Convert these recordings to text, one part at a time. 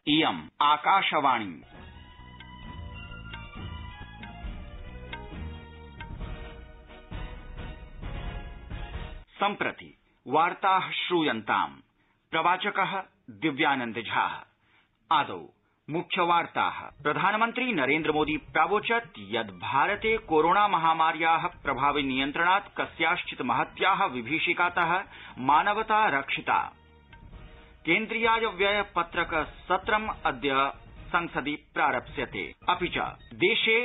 इयम् आकाशवाणी। सम्प्रति वार्ताः श्रूयन्ताम्। प्रवाचकः दिव्यानंद झा। आदौ मुख्यवार्ताः। प्रधानमन्त्री नरेन्द्र मोदी प्रावोचत् यत् भारते कोरोना महामार्याः प्रभावि नियन्त्रणात् कस्याश्चित् महत्याः विभीषिकातः मानवता रक्षिता। केन्द्रीयाय व्यय पत्रक सत्रम् अद्य संसदि प्रारप्स्यते। अपि च देशे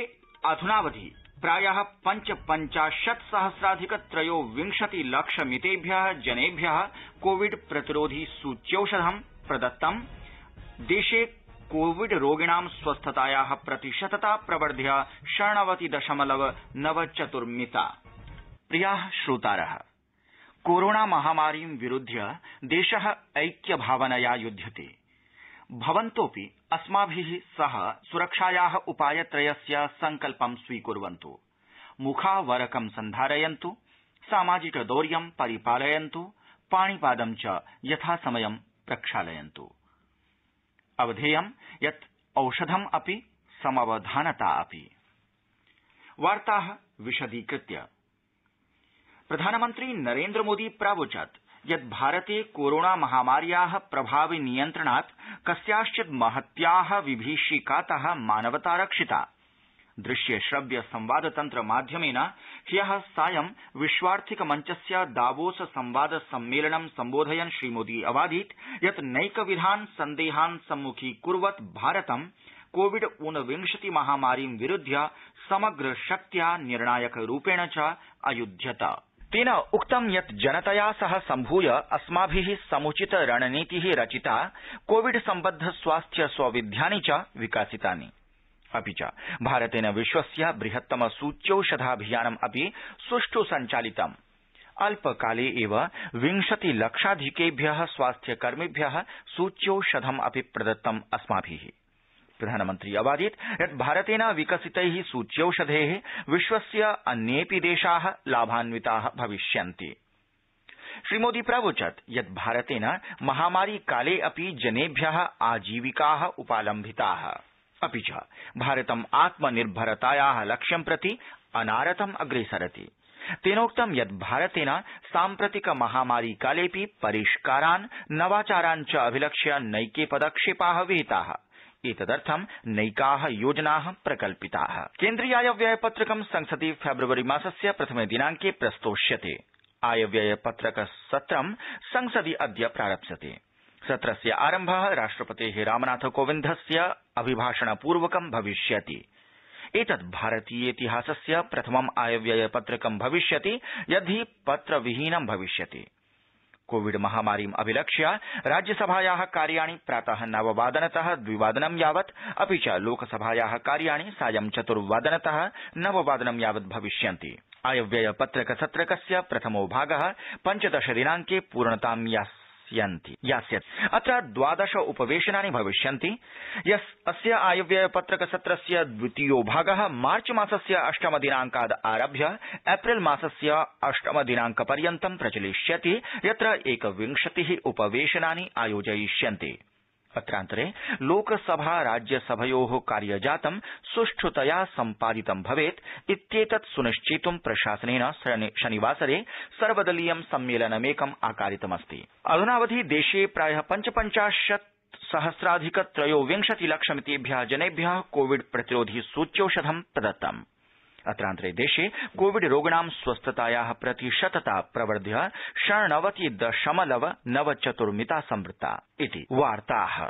अधुनावधि प्रायः 55,000,000 लक्षमितेभ्यः जनेभ्यः कोविड प्रतिरोधि सूच्यौषधं प्रदत्तम्। देशे कोविड रोगिणां स्वस्थतायाः प्रतिशतता प्रवर्ध्य 90.94 प्रियाः श्रोतारः, कोरोना महामारीं विरुध्य देशः ऐक्यभावनया युध्यते। भवन्तोऽपि अस्माभिः सह सुरक्षायाः उपायत्रयस्य सङ्कल्पं स्वीकुर्वन्तु। मुखावरकं सन्धारयन्तु, सामाजिकदौर्यं परिपालयन्तु, पाणिपादं च यथासमयं प्रक्षालयन्तु। अवधेयं यत् औषधम् अपि समवधानता अपि। वार्ताः विशदीकृत्य। प्रधानमन्त्री नरेन्द्र मोदी प्रावोचत् यत् भारते कोरोना महामार्याः प्रभावि नियन्त्रणात् कस्याश्चित् महत्याः विभीषिकातः मानवता रक्षिता। दृश्य श्रव्य संवाद तन्त्र माध्यमेन ह्यः सायं विश्वार्थिक मञ्चस्य दावोस संवाद सम्मेलनं सम्बोधयन् श्रीमोदी अवादीत् यत् नैकविधान् सन्देहान् सम्मुखीकुर्वत् भारतं कोविड-19 महामारीं विरुध्य समग्र शक्त्या निर्णायक रूपेण च अयुध्यत। तेन उक्तं यत् जनतया सह सम्भूय अस्माभिः समुचित रणनीतिः रचिता, कोविड सम्बद्ध स्वास्थ्य सौविध्यानि च विकासितानि। अपि च भारतेन विश्वस्य बृहत्तम सूच्यौषधाभियानम् अपि सुष्ठु सञ्चालितम्। अल्पकाले एव 20 लक्षाधिकेभ्यः स्वास्थ्यकर्मिभ्यः सूच्यौषधम् अपि प्रदत्तम् अस्माभिः। प्रधानमन्त्री अवादीत् यत् भारतेन विकसितैः सूच्यौषधैः विश्वस्य अन्येऽपि देशाः लाभान्विताः भविष्यन्ति। श्रीमोदी प्रावोचत् यत् भारतेन महामारी काले अपि जनेभ्यः आजीविकाः उपालम्भिताः। अपि च भारतम् आत्मनिर्भरतायाः लक्ष्यं प्रति अनारतम् अग्रेसरति। तेनोक्तं यत् भारतेन साम्प्रतिक महामारी कालेऽपि परिष्कारान्, नवाचारान् च अभिलक्ष्य नैके पदक्षेपाः विहिताः। एतदर्थं नैकाः योजनाः प्रकल्पिताः। केन्द्रीयायव्ययपत्रकं संसदि फेब्रुवरी मासस्य प्रथमे दिनाङ्के प्रस्तोष्यते। आयव्ययपत्रकसत्रं संसदि अद्य प्रारप्स्यते। सत्रस्य आरम्भः राष्ट्रपतेः रामनाथ कोविन्दस्य अभिभाषणपूर्वकं भविष्यति। एतत् भारतीयेतिहासस्य प्रथमम् आयव्ययपत्रकं भविष्यति यद्धि पत्रविहीनं भविष्यति। कोविड महामारीम् अभिलक्ष्य राज्यसभायाः कार्याणि प्रातः 9:00 2:00 यावत्, अपि च लोकसभायाः कार्याणि सायं 4:00 9:00 यावत् भविष्यन्ति। आयव्ययपत्रकसत्रकस्य प्रथमो भागः 15 दिनाङ्के पूर्णतां यास्यति। अत्र 12 उपवेशनानि भविष्यन्ति। अस्य आयव्ययपत्रकसत्रस्य द्वितीयो भागः मार्च मासस्य 8 दिनाङ्काद् आरभ्य एप्रिल मासस्य 8 दिनाङ्कपर्यन्तं प्रचलिष्यति, यत्र 21 उपवेशनानि आयोजयिष्यन्ते। अत्रान्तरे लोकसभा राज्यसभयोः कार्यजातं सुष्ठुतया सम्पादितं भवेत् इत्येतत् सुनिश्चेतुं प्रशासनेन शनिवासरे सर्वदलीयं सम्मेलनमेकम् आकारितमस्ति। अधुनावधि देशे प्रायः 55,000,000 लक्षमितेभ्यः जनेभ्यः कोविड प्रतिरोधि सूच्यौषधं प्रदत्तम्। अत्रान्तरे देशे कोविड रोगिणां स्वस्थतायाः प्रतिशतता प्रवर्ध्य 90.94 संवृत्ता इति वार्ताः।